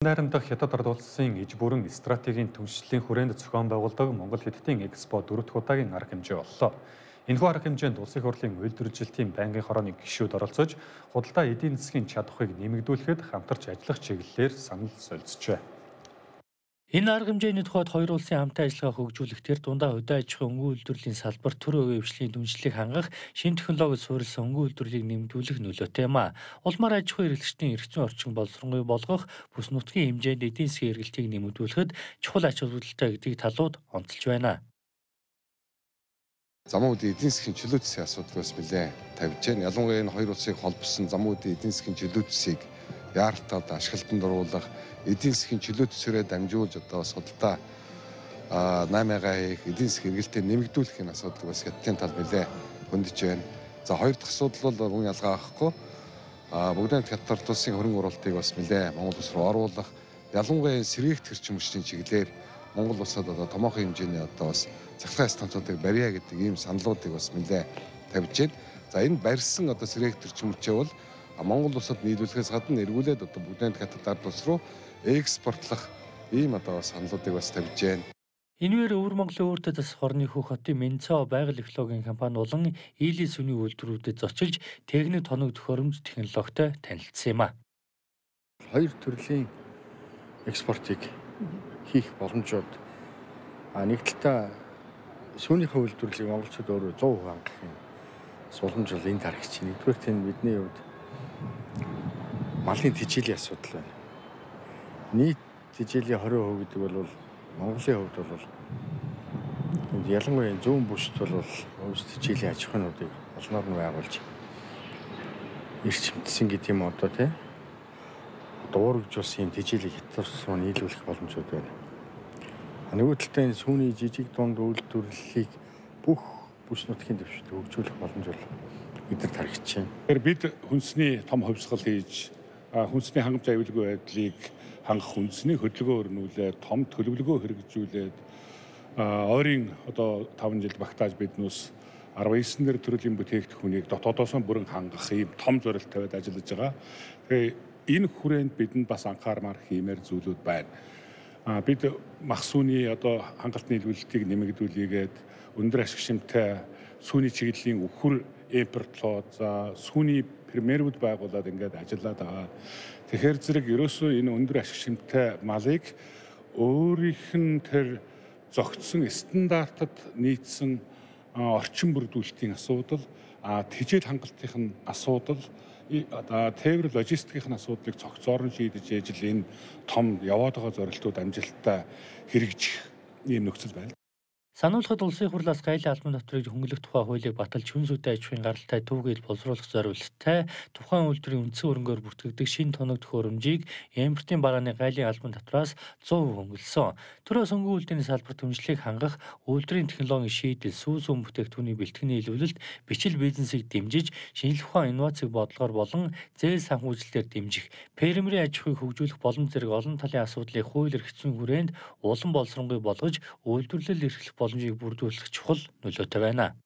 Найрамдах Хятад ард улсын иж бүрэн стратегийн түншлэлийн хүрээнд зохион байгуулдаг Монгол Хятадын Экспо 4 дахь удаагийн арга хэмжээ боллоо. Энэхүү арга хэмжээнд улсын хурлын үйлдвэржилтийн байнгын хорооны гишүүд оролцож, худалдаа эдийн засгийн чадварыг нэмэгдүүлэхэд хамтарч ажиллах чиглэлээр санал солилцжээ. Энэ арга хэмжээний тухайд хоёр улсын хамтын ажиллагаа хөгжүүлэх төр дундаа хөдөө аж ахуйн өнгө үйлдвэрлэлийн салбар төр үеийн хвшлийн түншлэлийг хангах шинэ технологид суурилсан өнгө үйлдвэрлэлийг нэмэгдүүлэх нөлөөтэй юм а. Улмаар аж ахуйн эрхлэгчдийн эрх зүйн орчин боловсронгүй болгох, бүс нутгийн хэмжээнд эдийн засгийн эргэлтийг нэмэгдүүлэхэд чухал ач холбогдолтой гэдэг талууд онцолж байна. Замун үеийн эдийн засгийн чөлөө засгийн асуудал бас нэлээд тавьж байна. Ялангуяа энэ хоёр улсыг холбосон замун үеийн эдийн засгийн чөлөө засгийг яаралтай ашиглалтанд оруулах, эдийн засгийн чөлөө төсөөрөө дамжуулж бас худалдаа 8-гаа хийх, эдийн засгийн эргэлтээ нэмэгдүүлэх энэ асуудал бас хятадын тал нэлээд хөндөж байна. За хоёр дахь асуудал бол мөн ялгаа авахгүй бүгд Хятад ард улсын хөрөнгө оруулалтыг бас нэлээд Монгол улс руу оруулах, ялангуяа сэргээгт хэрчим хүчний чиглэлээр Монгол улсад томоохон хэмжээний бас цахилгаан станцуудыг барья гэдэг ийм саналуудыг бас нэлээд тавьж байна. За энэ барьсан сэргээгт хэрчим хүчээ бол Монгол улсад нийлүүлэхээс гадна эргүүлээд бүгд Хятад ард улс руу экспортлох ийм саналуудыг бас тавьж байна. Энэгээр өвөр Монголын өөртөө засах орны хөх хотын Менцо байгаль экологийн компани болон Ийлийн сүний үйлдвэрүүдэд зочилж техник тоног төхөөрөмж технологитой танилцсан юм а. Хоёр төрлийн экспортыг хийх боломжууд нэг талдаа сүүнийхээ үйлдвэрлэлийг монголчууд өөрөө 100% хангах юм суламж бол энд харагдаж байна. Нэгдүгээр тийм бидний хувьд малын тэжээлийн асуудал байна. Нийт тэжээлийн 20% гэдэг бол Монголын хувьд бол ялангуяа зүүн бүсд бол өвс тэжээлийн аж ахуйнуудыг олноор нь байгуулж эрчимтсэн гэдэг юм тийм дуурайжуулсан юм тэжээлийг Хятад руу нийлүүлэх боломжууд байна. Нөгөө талдаа энэ сүүний жижиг дунд үйлдвэрлэлийг бүх бүс нутгийн дэвшилтэд хөгжүүлэх боломж бол бидэрт харагдаж байна. Тэгэхээр бид хүнсний том хувьсгал хийж хүнсний хангамж аюулгүй байдлыг хангах үндэсний хөдөлгөөн өрнүүлээд том төлөвлөгөө хэрэгжүүлээд ойрын 5 жил багтааж биднээс 19 төрлийн бүтээгдэхүүнийг дотоодоос нь бүрэн хангах ийм том зорилт тавиад ажиллаж байгаа. Тэгээ энэ хүрээнд бидэнд бас анхаармаар хиймээр зүйлүүд байна. Бид мах сүүний хангалтны нийлүүлэлтийг нэмэгдүүлээгээд өндөр ашиг шимтэй сүүний чиглэлийн өвхөр импортлоод сүүний премьерүүд байгуулад ингээд ажиллаад байгаа. Тэгэхээр зэрэг ерөөсөө энэ өндөр ашиг шимтэй малыг өөрийнх нь тэр зогтсон стандартад нийцсэн орчин бүрдүүлэлтийн асуудал, тэжээл хангалтын асуудал, тээвэр логистикийн асуудлыг цогцоор нь шийдэж ижил энэ том яваад байгаа зорилтууд амжилттай хэрэгжих ийм нөхцөл байна. Сануулхад улсын хурлаас гайлын албан татварыг хөнгөлөх тухай хуулийг баталж хүн зүйтэй аж ахуйн гаралтай түүхийг боловсруулах зорилттой тухайн үйлдвэрийн үндсэн хөрөнгөөр бүртгэгдэх шинэ тоног төхөөрөмжийг импортын барааны гайлын албан татвараас 100% хөнгөлсөн. Төрөөс өнгө үйлдвэрийн салбар түншлэлийг хангах үйлдвэрийн технологийн шийдэл, сүүс үн бүтээгдэхүүний бэлтгэний илрүүлэлт, бичил бизнесийг дэмжиж, шинжлэх ухаан инновацыг бодлогоор болон зээл санхүүжилтээр дэмжих, фермерийн аж ахуйг хөгжүүлэх боломж зэрэг олон талын асуудлыг хууль эрх зүйн хүрээнд улам боловсронгүй болгож, үйлдвэрлэл эрхлэх боломжийг бүрдүүлэх чухал нөлөөтэй байна.